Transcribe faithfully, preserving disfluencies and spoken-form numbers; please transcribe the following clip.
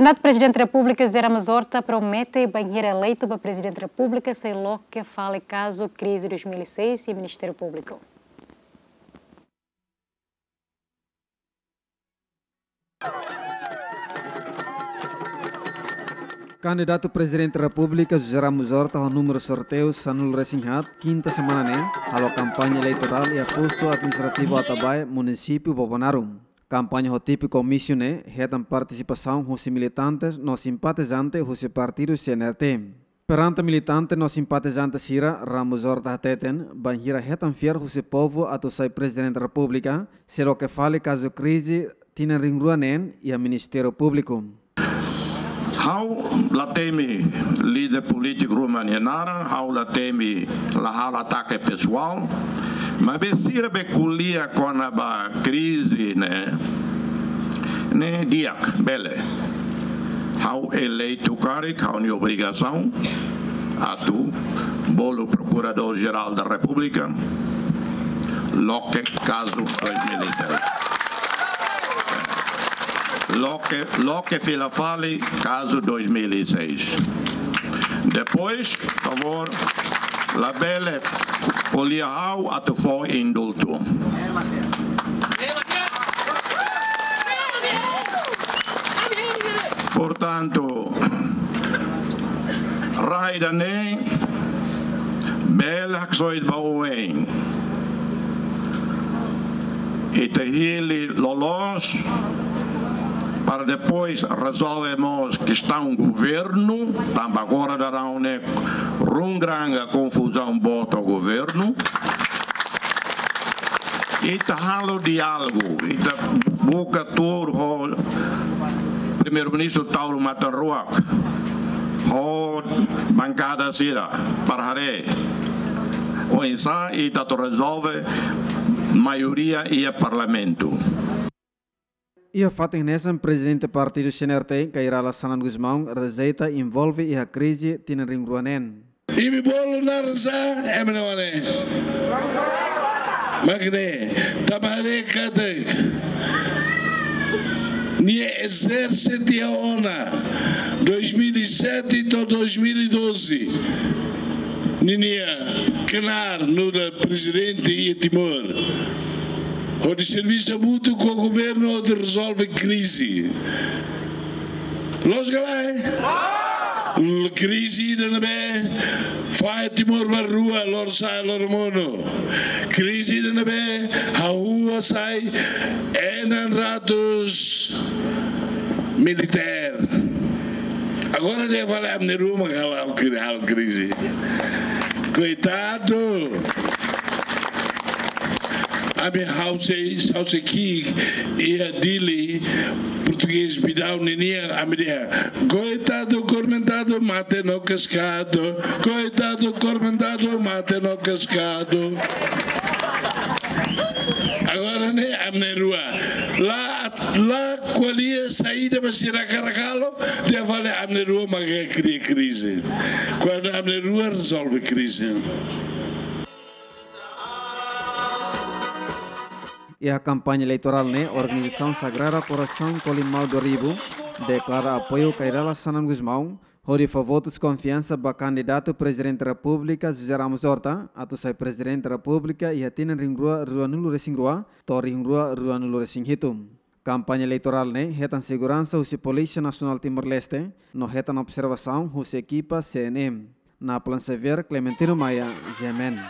Kandidatu Prezidente Repúblika José Ramos Horta promete bainhira eleitu ba Prezidente Repúblika sei loke fali kazu krize dois mil e seis iha Ministériu Públiku. Kandidatu Prezidente Repúblika José Ramos Horta ho númeru sorteiu sanulu-resin-haat, kinta semana ne'e, halo kampaña eleitorál iha postu administrativu Atabae, munisípiu Bobonaro. Kampaña ho tipu komísiu ne'e hetan partisipasaun husi militantes no simpatizante husi partidu C N R T. Perante militante no simpatizante sira, Ramos Horta hateten, bainhira hetan fiar husi povu atu sai Prezidente Repúblika, sei loke fali kazu krize tinan rihun rua neen iha Ministériu Públiku. Ha'u la temi líder polítiku ruma nia naran, ha'u la temi, la halo atake pesoál, maibé sira be ko'alia kona-ba krize ne'e, ne'e di'ak, bele. Ha'u eleitu karik, ha'u-nia obrigasaun atu bolu Prokuradór Jerál da Repúblika loke kazu dois mil e seis. Loke, loke fila fali kazu dois mil e seis. Depois, favór, labele ko'alia ha'u atu fó indultu. Portantu, rai ida-ne'e bele haksoit ba oin. Ita hili loloos para depois rezolve mós kestaun governu, tanba agora daudaun ne'e run granga konfuzaun boot ho governu. Ita halo diálogu, ita buka tuur ho Primeiru-Ministru Taur Matan Ruak, ho bankada sira para haree oinsá ita atu rezolve maioria iha Parlamentu. Iha fatin hanesan, Prezidente Partidu C N R T, Kay Rala Xanana Gusmão, rejeita envolve iha krize tinan rihun rua neen. Imi bolu naran sá, ema ne'e mak ne'e. Mak ne'e, tanba haree katak nia ezerse tiha ona dois mil e sete to'o dois mil e doze. Ninia knaar nu'udar prezidente iha Timor, hodi servisu hamutuk ho governu hodi rezolve krize. Loos ka lae? L-, krize ida ne'ebé fahe Timor ba rua, lorosa'e loromonu. Krize ida ne'ebé hahú sai enam ratus militer. Agora nia fali ami na'in-rua mak halo kri-, halo krize. Koitadu. Ami ha'u sei, ha'u sei ki'ik iha Dili, portugés Bidau ninia, ami dehan: "Coitado acorrentado, mate no cascado. Coitado acorrentado, mate no cascado." Agora ne'e ami na'in-rua. La, la ko'alia saida mak sira hakarak halo, dehan fali ami na'in-rua mak kria krize. Kuandu ami na'in-rua rezolve krize. Iha kampaña eleitorál ne'e, organizasaun Sagrada Coração Colimau do Arribo deklara apoiu Kay Rala Xanana Gusmão, hodi fó votus konfiansa ba kandidatu Prezidente Repúblika José Ramos Horta atu sai Prezidente Repúblika iha tinan rihun rua ruanulu-resin-rua to'o rihun rua ruanulu-resin-hitu. Kampaña eleitorál ne'e hetan seguransa husi Polísia Nasionál Timor-Leste, no hetan observasaun husi ekipa C N M. Napoleon Xavier, Clementino Maia, G M N.